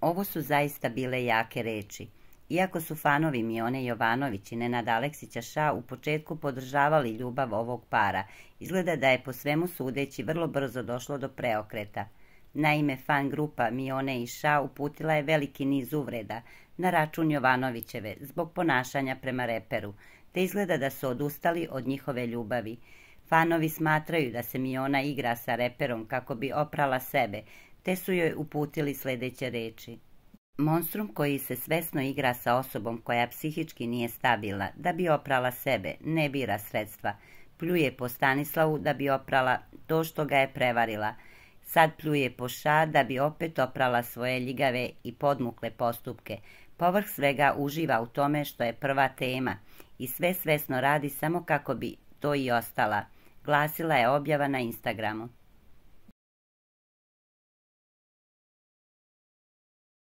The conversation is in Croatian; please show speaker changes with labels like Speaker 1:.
Speaker 1: Ovo su zaista bile jake reči. Iako su fanovi Mione Jovanović i Nenada Aleksića Ša u početku podržavali ljubav ovog para, izgleda da je po svemu sudeći vrlo brzo došlo do preokreta. Naime, fan grupa Mione i Ša uputila je veliki niz uvreda na račun Jovanovićeve zbog ponašanja prema reperu, te izgleda da su odustali od njihove ljubavi. Fanovi smatraju da se Miona igra sa reperom kako bi oprala sebe, te su joj uputili sljedeće reči. Monstrum koji se svesno igra sa osobom koja psihički nije stabilna da bi oprala sebe, ne bira sredstva. Pljuje po Stanislavu da bi oprala to što ga je prevarila. Sad pljuje po Ša da bi opet oprala svoje ljigave i podmukle postupke. Povrh svega uživa u tome što je prva tema i sve svesno radi samo kako bi to i ostala, glasila je objava na Instagramu.